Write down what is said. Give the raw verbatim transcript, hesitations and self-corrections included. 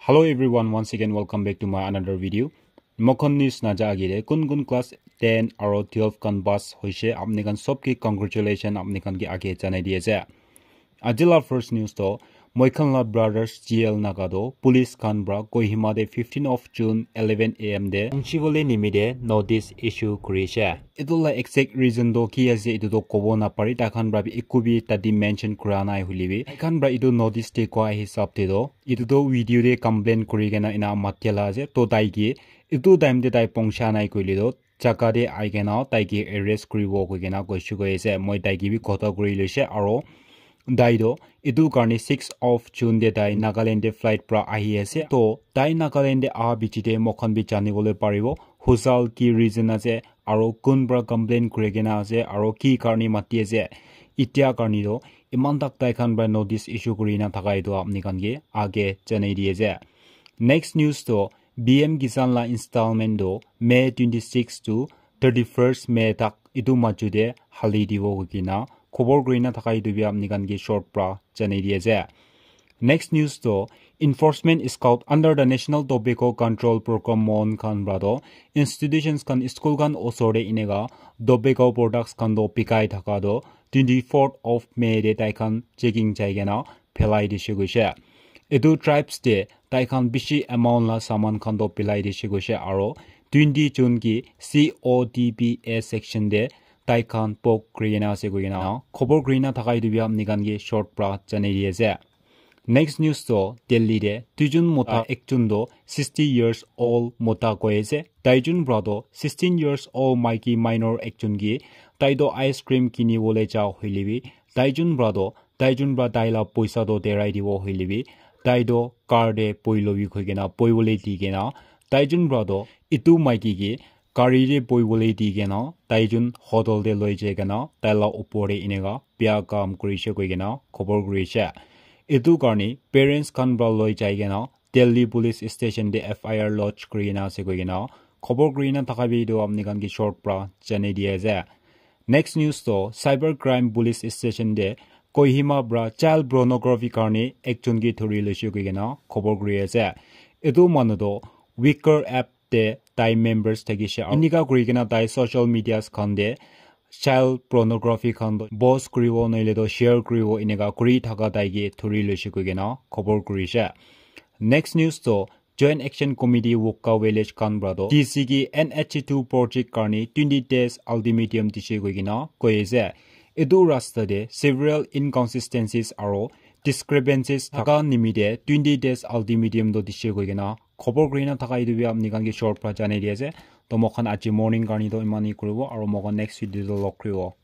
Hello everyone, once again welcome back to my another video. Mokhan news naja agire kun kun class ten aro twelve khan pass hoise, apni khan sob ke congratulation, apni khan ke age janai di ase. Ajila first news to, moi khan la brothers G L Naga to police khan pra Kohima de fifteen of June eleven A M de pungchi bole nimide notice issue kurise. Etu la exact reason to ki ase, etu to kobo napari, tai khan pra bi eku bi tadi mention kura nai hoile bi, tai khan pra etu notice de koa hisab de to, etu to video de complain kuri kena ena matia la ase, to tai ke etu time de tai pungcha nai koile to, jaga de ai kena tai ke arrest kuribo koi kena koishe koi ase. Moi tai ke bi kotha kuri loise, aro tai to etu karne six of June de tai Nagaland de flight pra ahi ase. To tai Nagaland de aha bichi de mokhan bi jani bole paribo husal ki reason ase, aro kun pra complain kuri kena ase, aro ki karne mati ase. Etia karne to iman tak tai khan pra notice issue kuri na thaka etu apni khan ke age janai di ase. Next news to, B M Kisan la installment to May twenty six to thirty first May tak etu machu de hali dibo koi kena khobor kuri na thaka etu bi apni khan ke short pra janai di ase. Next news to, enforcement squad under the National Tobacco Control Program, mon khan pra to institutions khan, school khan osor de eneka tobacco products khan to bikai thaka to twenty fourth of May de tai khan checking jai kena phelai dishe koishe. Etu tribes de tai khan bishi amount la saman khan to pilai dishe koishe, aro twenty June ki C O T P A section de tai khan pok kuri kena ase koi kena khobor kuri na thaka etu bi apni khan ke short pra janai di ase. Next news to, Delhi de duijun mota, ekjun to sixty years old mota koi ase. Taijun pra to sixteen years old maiki minor ekjun ke tai to ice cream kini bole ja hoile bi, taijun pra to, taijun pra tai la poisa to derai dibo hoile bi, tai to car de poi lobi koi kena, poi bole di kena, taijun pra to etu maiki ke gari de poi bole di kena, taijun hotel de loi jai kena, tai la upor de eneka bia kam kurishe koi kena khobor kurishe. Etu karne parents khan pra loi jai kena Delhi police station de F I R lodge kuri kena ase koi kena khobor kuri na thaka bi etu apni khan ke short pra janai di ase. Next news to, cyber crime police station de Kohima pra child pornography karne ekjun ke thori loishe koi kena khobor kuri ase. Etu manu to Wickr app de tai members thakishe. Enika kuri kena tai social medias khan de child pornography khan to post kuribo nohoile to share kuribo, eneka kuri thaka tai ke thori loishe koi kena khobor kurishe. Next news to, Joint Action Committee Wokha Village khan pra to D C ke N H two project karne twenty days ultimatum dishe koi kena koi ase. Etu rasta de several inconsistencies aro discrepancies thaka nimite twenty days ultimatum to dishe koi kena khobor kuri na thaka etu bi apni khan ke short pra janai di ase. To mokhan aji morning karne to iman hi kuribo, aro mokhan next video to log kuribo.